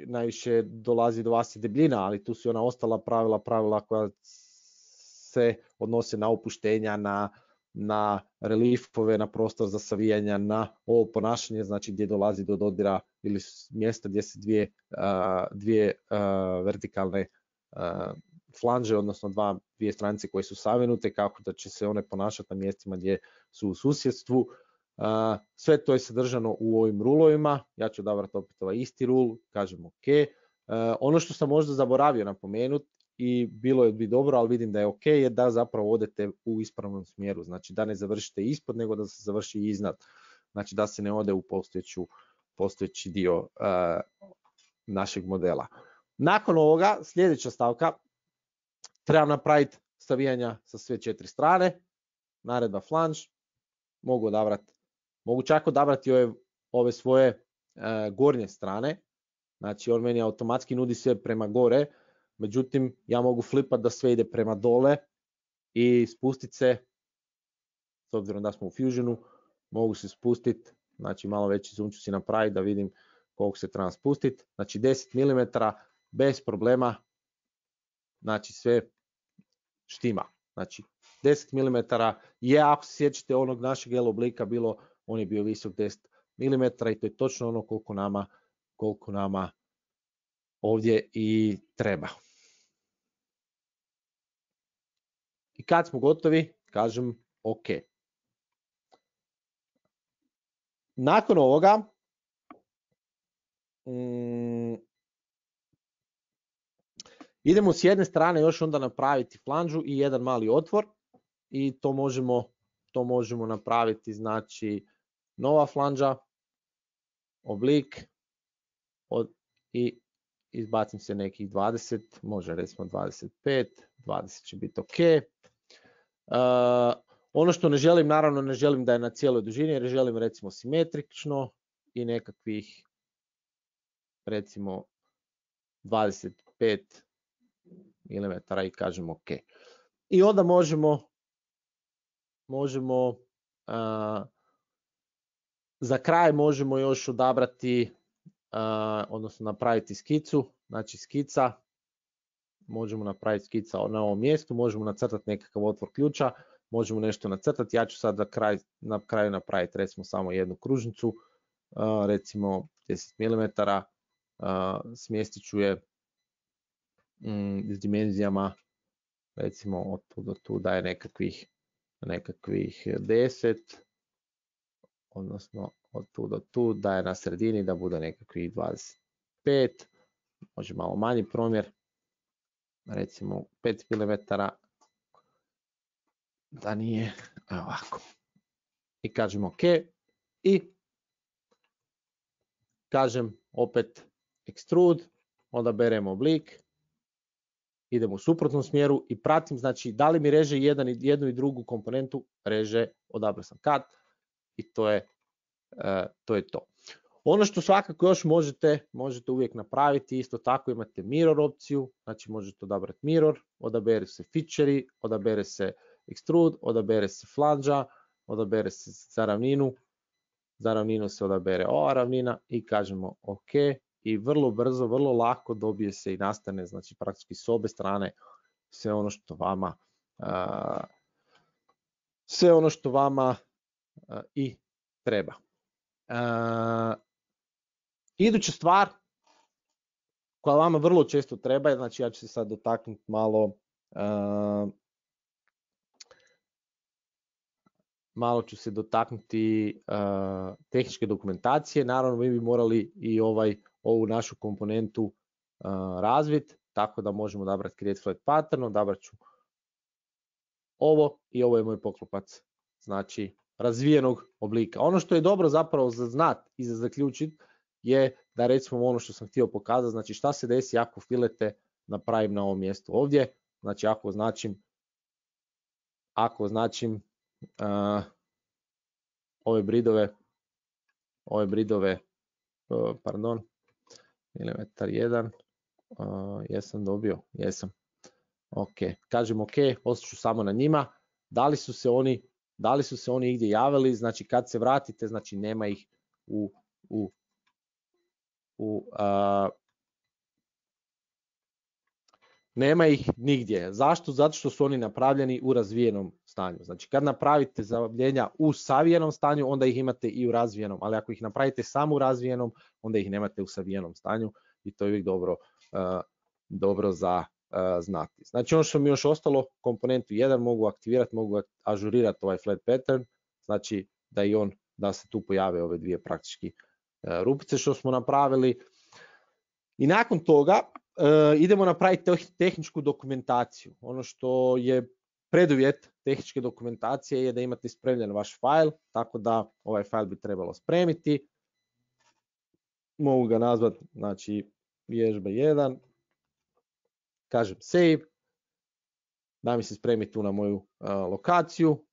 najviše dolazi do vas i debljina, ali tu su i ona ostala pravila koja se odnose na opuštenja, na na reliefove, na prostor za savijanja, na ovo ponašanje, znači gdje dolazi do dodira ili mjesta gdje se dvije vertikalne flanže, odnosno dvije stranice koje su savinute, kako da će se one ponašati na mjestima gdje su u susjedstvu. Sve to je sadržano u ovim rulovima. Ja ću odabrati opet ovaj isti rul, kažem OK. Ono što sam možda zaboravio napomenuti i bilo bi dobro, ali vidim da je OK, je da zapravo odete u ispravnom smjeru. Znači da ne završite ispod, nego da se završi iznad. Znači da se ne ode u postojeći dio našeg modela. Nakon ovoga, sljedeća stavka, trebam napraviti savijanja sa sve 4 strane, naredba flange, mogu čak odabrati ove svoje gornje strane, znači on meni automatski nudi sve prema gore, međutim ja mogu flipati da sve ide prema dole i spustiti se, s obzirom da smo u Fusionu, mogu se spustiti, znači malo veći zoom ću si napraviti da vidim koliko se treba spustiti, znači 10 mm bez problema, znači sve štima, znači 10 mm je, ako se sjećate onog našeg L oblika bilo, on je bio visok 10 mm i to je točno ono koliko nama ovdje i treba. I kad smo gotovi, kažem OK. Nakon ovoga, idemo s jedne strane još onda napraviti flanžu i jedan mali otvor i to možemo napraviti, znači nova flanža, oblik i izbacim se nekih 20, može recimo 25, 20 će biti OK. Ono što ne želim, naravno ne želim da je na cijeloj dužini, jer želim recimo simetrično i nekakvih recimo 25 mm i kažem OK. I onda možemo za kraj možemo još odabrati, odnosno napraviti skicu, znači skica, možemo napraviti skica na ovom mjestu, možemo nacrtati nekakav otvor ključa, možemo nešto nacrtati, ja ću sad na kraju napraviti recimo samo jednu kružnicu, recimo 10 mm, smjestit ću je s dimenzijama recimo od tu do tu daje nekakvih 10, odnosno od tu do tu daje na sredini da bude nekakvih 25, može malo manji promjer, recimo 5 mm, da nije ovako. I kažem OK i kažem opet extrude, odaberem oblik, idemo u suprotnom smjeru i pratim, znači da li mi reže jednu i drugu komponentu, reže, odabrao sam cut i to je to. Ono što svakako još možete uvijek napraviti, isto tako imate mirror opciju, znači možete odabrati mirror, odabere se feature, odabere se extrude, odabere se flanža, odabere se za ravninu se odabere ova ravnina i kažemo OK i vrlo brzo, vrlo lako dobije se i nastane, znači praktički s obe strane sve ono što vama i treba. Iduća stvar koja vama vrlo često treba, znači ja ću se sad dotaknuti malo ću se dotaknuti tehničke dokumentacije. Naravno mi bi morali i ovu našu komponentu razviti, tako da možemo odabrati create flat pattern, odabrat ću ovo i ovo je moj poklopac, znači razvijenog oblika. Ono što je dobro zapravo za znat i za zaključiti je da recimo ono što sam htio pokazati, znači šta se desi ako filete napravim na ovom mjestu ovdje, znači ako označim ove bridove, pardon, milimetar 1, jesam dobio, jesam, ok, kažem ok, ostaću samo na njima, da li su se oni igdje javili, znači kad se vratite, znači nema ih Nema ih nigdje. Zašto? Zato što su oni napravljeni u razvijenom stanju. Znači kad napravite zavljenja u savijenom stanju, onda ih imate i u razvijenom, ali ako ih napravite samo u razvijenom, onda ih nemate u savijenom stanju i to je uvijek dobro za znati. Znači ono što mi još ostalo, komponentu 1 mogu aktivirati, mogu ažurirati ovaj flat pattern, znači da se tu pojave ove dvije praktički rupice što smo napravili. I nakon toga idemo napraviti tehničku dokumentaciju. Ono što je preduvjet tehničke dokumentacije je da imate spremljen vaš file, tako da ovaj file bi trebalo spremiti. Mogu ga nazvati, znači, vježba 1, kažem save, da mi se spremi tu na moju lokaciju.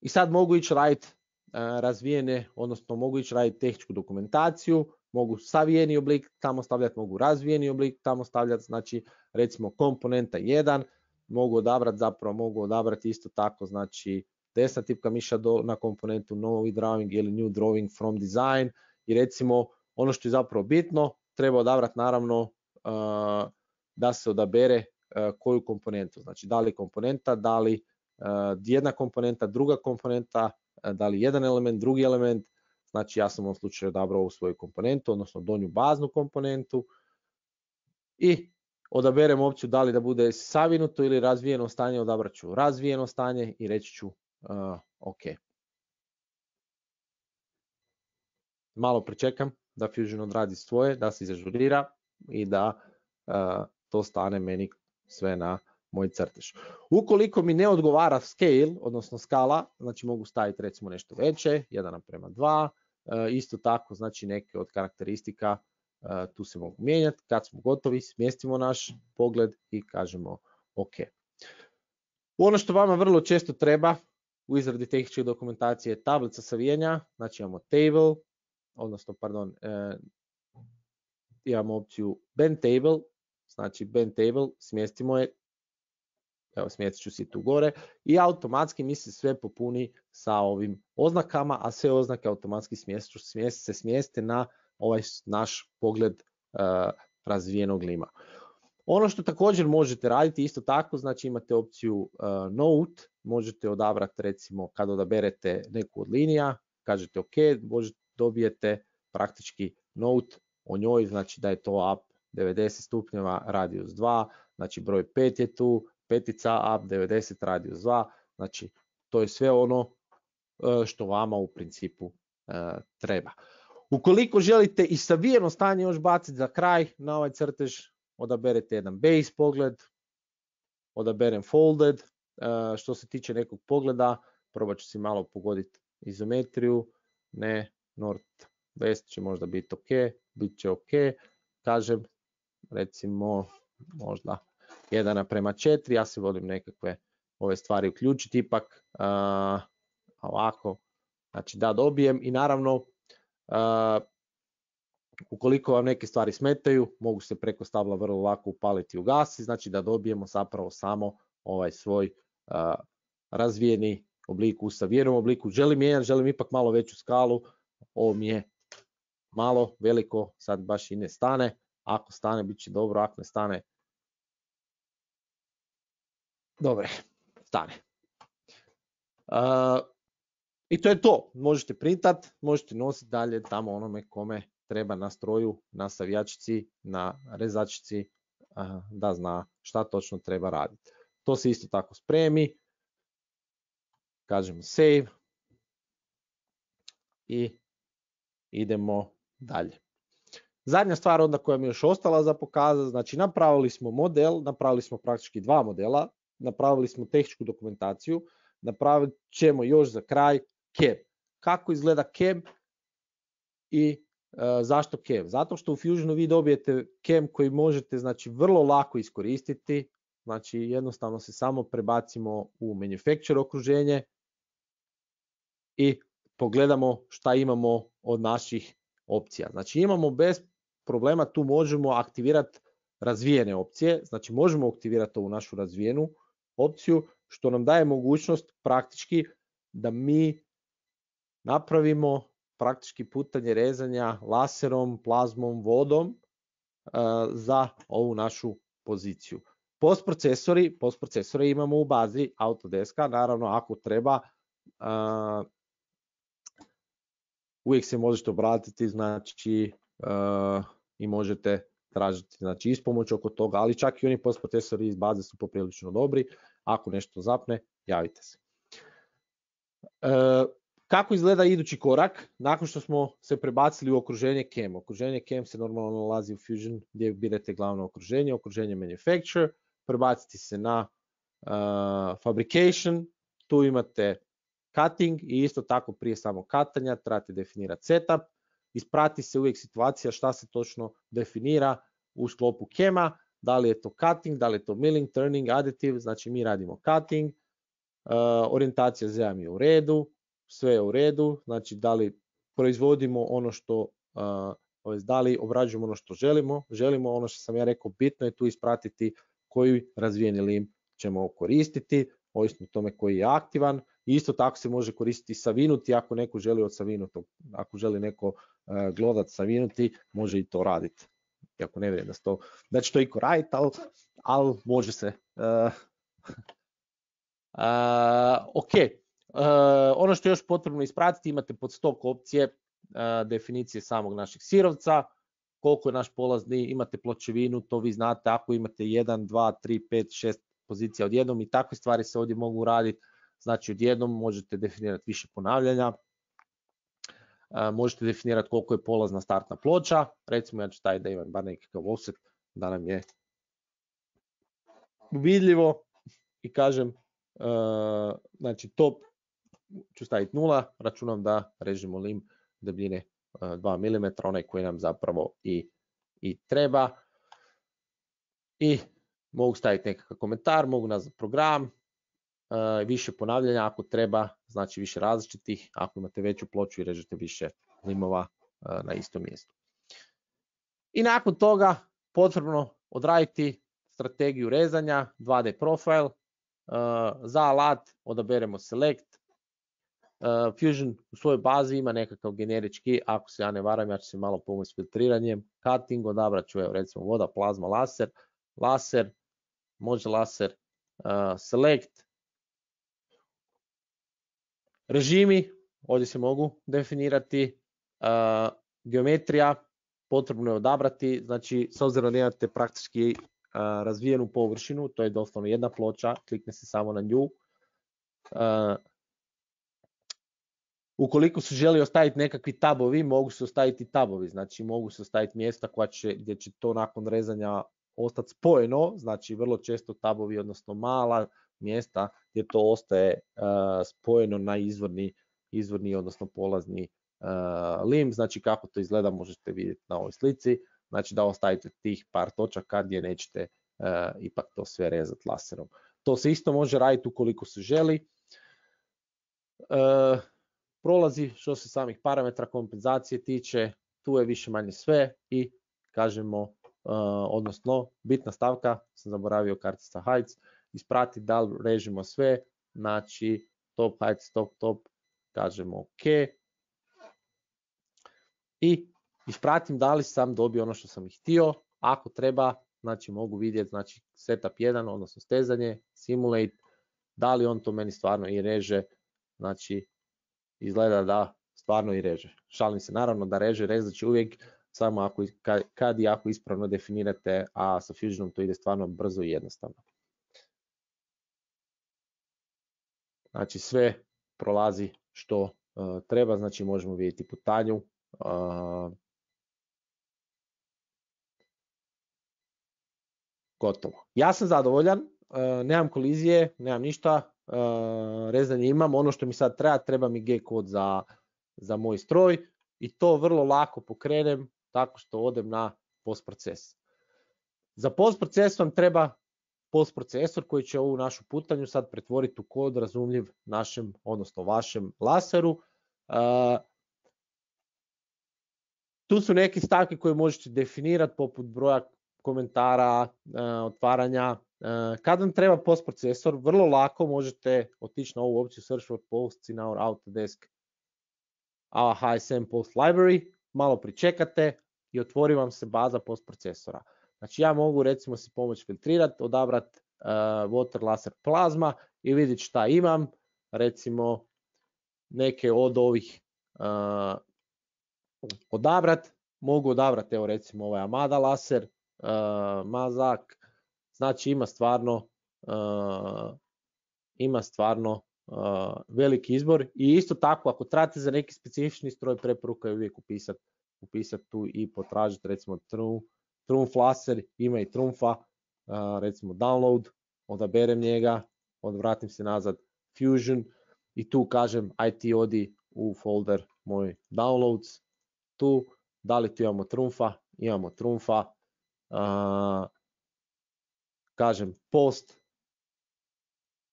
I sad mogu ići raditi razvijene, odnosno mogu ići raditi tehničku dokumentaciju, mogu savijeni oblik tamo stavljati, mogu razvijeni oblik tamo stavljati, znači recimo komponenta 1, mogu odabrati isto tako, znači desna tipka miša na komponentu novi drawing ili new drawing from design i recimo ono što je zapravo bitno, treba odabrati naravno da se odabere koju komponentu, znači da li komponenta, da li jedna komponenta, druga komponenta, da li jedan element, drugi element. Znači ja sam u ovom slučaju odabrao ovu svoju komponentu, odnosno donju baznu komponentu i odaberem opciju da li da bude savinuto ili razvijeno stanje, odabrat ću razvijeno stanje i reći ću OK. Malo pričekam da Fusion odradi svoje, da se izažurira i da to stane meni sve na moj crtež. Ukoliko mi ne odgovara scale, odnosno skala, znači mogu staviti recimo nešto veće, 1:2, isto tako znači neke od karakteristika tu se mogu mijenjati. Kad smo gotovi, smjestimo naš pogled i kažemo OK. Ono što vama vrlo često treba u izradi tehničke dokumentacije je tablica savijanja, znači imamo table, odnosno pardon, imamo opciju bend table, znači bend table, smjestimo je, evo smjestit ću si tu gore i automatski mi se sve popuni sa ovim oznakama, a sve oznake automatski se smjeste na ovaj naš pogled razvijenog lima. Ono što također možete raditi isto tako, znači imate opciju note, možete odabrati recimo kad odaberete neku od linija, kažete OK, dobijete praktički note o njoj, znači da je to up 90 stupnjeva, radius 2, znači broj 5 je tu, petica up 90 radius 2, znači to je sve ono što vama u principu treba. Ukoliko želite i savijeno stanje još baciti za kraj na ovaj crtež, odaberete jedan base pogled, odaberem folded, što se tiče nekog pogleda, probat ću si malo pogoditi izometriju, ne, north west će možda biti OK, bit će OK, kažem recimo možda 1:4, ja se volim nekakve ove stvari uključiti ipak, ovako, znači da dobijem i naravno ukoliko vam neke stvari smetaju, mogu se preko stabla vrlo lako upaliti i ugasiti, znači da dobijemo zapravo samo ovaj svoj razvijeni oblik u savijenom obliku. Želim ipak malo veću skalu, ovo mi je malo veliko, sad baš i ne stane, ako stane bit će dobro, ako ne stane, dobre, stane. I to je to, možete printat, možete nositi dalje tamo onome kome treba na stroju, na savijačici, na rezačici, da zna šta točno treba raditi. To se isto tako spremi, kažemo save i idemo dalje. Zadnja stvar onda koja mi je još ostala za pokazati, znači napravili smo model, napravili smo praktički dva modela, napravili smo tehničku dokumentaciju, napravit ćemo još za kraj CAM. Kako izgleda CAM i zašto CAM? Zato što u Fusionu vi dobijete CAM koji možete znači vrlo lako iskoristiti, znači jednostavno se samo prebacimo u manufacture okruženje i pogledamo šta imamo od naših opcija. Znači imamo bez problema, tu možemo aktivirati razvijene opcije, znači možemo aktivirati ovu našu razvijenu opciju, što nam daje mogućnost praktički da mi napravimo praktički putanje rezanja laserom, plazmom, vodom za ovu našu poziciju. Postprocesore imamo u bazi Autodeska, naravno ako treba, uvijek se možete obratiti, znači i možete tražiti znači, ispomoć oko toga, ali čak i oni postprocesori iz baze su poprilično dobri. Ako nešto zapne, javite se. Kako izgleda idući korak? Nakon što smo se prebacili u okruženje CAM. Okruženje CAM se normalno nalazi u Fusion gdje birate glavno okruženje Manufacture, prebaciti se na Fabrication, tu imate Cutting i isto tako prije samog katanja trebate definirati setup, isprati se uvijek situacija šta se točno definira u sklopu CAM-a, da li je to Cutting, da li je to Milling, Turning, Additive, znači mi radimo Cutting, orijentacija ZM je u redu, sve je u redu, znači da li proizvodimo ono što, da li obrađujemo ono što želimo ono što sam ja rekao, bitno je tu ispratiti koji razvijeni lim ćemo koristiti, ovisno o tome koji je aktivan. Isto tako se može koristiti savinuti ako neko želi od savinutog, ako želi neko glodat savinuti, može i to raditi. Iako ne vjerujem da će to iko raditi, ali može se. Ok, ono što je još potrebno ispratiti, imate pod stok opcije definicije samog našeg sirovca, koliko je naš polazni, imate pločevinu, to vi znate, ako imate 1, 2, 3, 5, 6 pozicija odjednom i takve stvari se ovdje mogu raditi, znači odjednom možete definirati više ponavljanja, možete definirati koliko je polazna startna ploča, recimo ja ću staviti da imam bar nekakav offset, da nam je vidljivo i kažem, znači top ću staviti 0, računam da režemo lim debljine 2 mm, onaj koji nam zapravo i treba. I mogu staviti nekakav komentar, mogu nazvati program, više ponavljanja ako treba, znači više različitih, ako imate veću ploču i režete više limova na istom mjestu. I nakon toga potrebno odraditi strategiju rezanja, 2D profile, za alat odaberemo select, Fusion u svojoj bazi ima nekakav generički, ako se ja ne varam, ja ću se malo pomoći s filtriranjem, cutting, odabrat ću recimo voda, plazma, laser, može laser, select, režimi, ovdje se mogu definirati, geometrija, potrebno je odabrati, znači s obzirom da imate praktički razvijenu površinu, to je doslovno jedna ploča, klikne se samo na nju. Ukoliko se želi ostaviti nekakvi tabovi, mogu se ostaviti tabovi, znači mogu se ostaviti mjesta gdje će to nakon rezanja ostati spojeno, znači vrlo često tabovi, odnosno mala mjesta gdje to ostaje spojeno na izvorni odnosno polazni lim, znači kako to izgleda možete vidjeti na ovoj slici, znači da ostavite tih par točaka gdje nećete ipak to sve rezati laserom. To se isto može raditi ukoliko se želi. Prolazi što se samih parametra kompenzacije tiče, tu je više manje sve i kažemo, odnosno bitna stavka, sam zaboravio kartica heights, isprati da li režimo sve, znači top heights, top, kažemo ok i ispratim da li sam dobio ono što sam ih htio, ako treba, znači mogu vidjeti, znači setup 1, odnosno stezanje, simulate, da li on to meni stvarno i reže, znači izgleda da stvarno i reže. Šalim se, naravno da reže, rezat će uvijek samo kad i ako ispravno definirate, a sa Fusionom to ide stvarno brzo i jednostavno. Znači sve prolazi što treba, znači možemo vidjeti putanju. Gotovo. Ja sam zadovoljan, nemam kolizije, nemam ništa, rezanje imam, ono što mi sad treba mi G-kod za moj stroj i to vrlo lako pokrenem tako što odem na postproces. Za postproces vam treba postprocesor koji će ovu našu putanju sad pretvoriti u kod razumljiv našem, odnosno vašem laseru. Tu su neke stavke koje možete definirati poput broja komentara, otvaranja. Kad vam treba postprocesor, vrlo lako možete otići na ovu opciju Search for Posts in our Autodesk HSM Post Library, malo pričekate i otvori vam se baza postprocesora. Znači ja mogu recimo si pomoći filtrirati, odabrati water laser plazma i vidjeti šta imam, recimo neke od ovih odabrati, mogu odabrati evo recimo ovaj Amada laser, Mazak, znači ima stvarno veliki izbor i isto tako ako trebate za neki specifični stroj preporuka je uvijek upisati tu i potražiti recimo Trumf laser, ima i Trumfa, recimo download, odaberem njega, odvratim se nazad Fusion i tu kažem aj ti odi u folder moj downloads, tu da li tu imamo Trumfa, kažem post,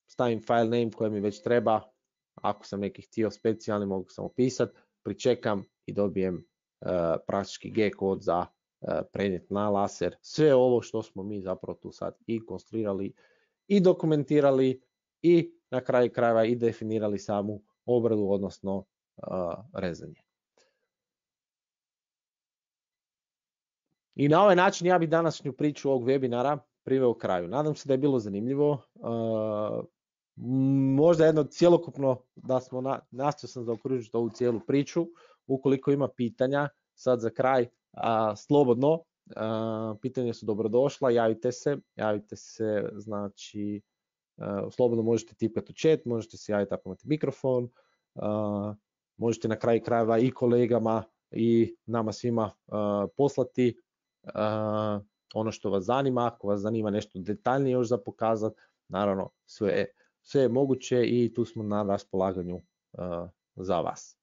stavim file name koji mi već treba, ako sam neki htio specijalni mogu sam opisati, pričekam i dobijem praktički G kod za prenijet na laser. Sve ovo što smo mi zapravo tu sad i konstruirali i dokumentirali i na kraju krajeva i definirali samu obradu, odnosno rezanje. I na ovaj način ja bih današnju priču ovog webinara priveo kraju. Nadam se da je bilo zanimljivo. Možda jedno cjelokupno da smo nastao sam zaokružiti ovu cijelu priču. Ukoliko ima pitanja, sad za kraj, slobodno, pitanja su dobrodošla, javite se, znači slobodno možete tipati u chat, možete se javiti ako imate mikrofon, možete na kraju krajeva i kolegama i nama svima poslati ono što vas zanima, ako vas zanima nešto detaljnije još za pokazati, naravno sve je moguće i tu smo na raspolaganju za vas.